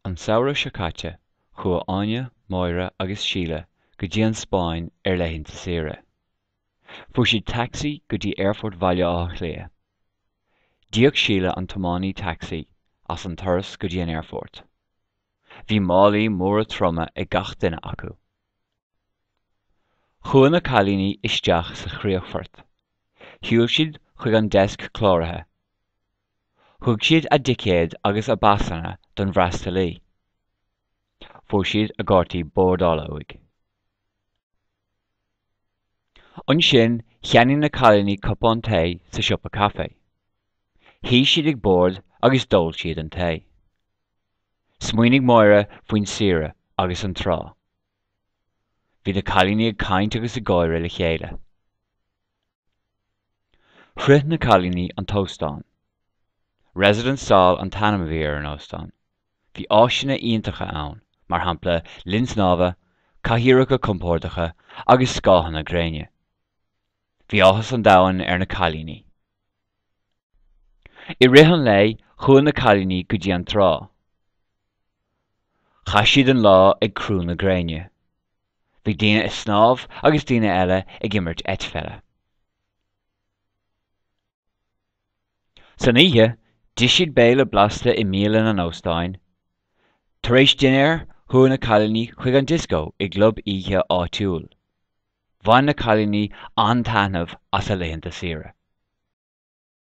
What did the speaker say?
An samhradh seo caite, chuaigh Áine, Máire agus Síle go dtí an Spáinn ar laethanta saoire. Fuair siad tacsaí go dtí Aerfort Bhaile Átha Cliath. D'íoc Síle an tiománaí tacsaí as an turas go dtí an aerfort. Bhí málaí móra troma ag gach duine acu. Chuaigh na cailíní isteach sa chríochfort. Shiúil siad chuig an deasc cláraithe. Thug siad a dticéid agus a bpasanna don bhfreastalaí. Fuair siad a gcártaí bordála uaidh. Ansin cheannaigh na cailíní cupán tae sa siopa caife. Shuigh siad ag bord agus d'ól siad an tae. Smaoinigh Máire faoin saoire agus an trá. Bhí na cailíní ag caint agus ag gáire le chéile. Shroich na cailíní an t-óstán. Residence Sol an t-ainm a bhí ar an óstán. Bhí áiseanna iontacha ann, mar shampla linn snámha, cathaoireacha compordacha agus scáthanna gréine. Bhí áthas an domhain ar na cailíní. I rith an lae, chuaigh na cailíní go dtí an trá. Chaith siad an lá ag crú na gréine. Bhí daoine ag snámh agus daoine eile ag imirt eitpheile. San oíche, d'ith siad béile blasta i mbialann an óstáin. Tar éis dinnéir, chuaigh na cailíní chuig an dioscó i gclub oíche áitiúil. Bhain na cailíní an-taitneamh as a laethanta saoire.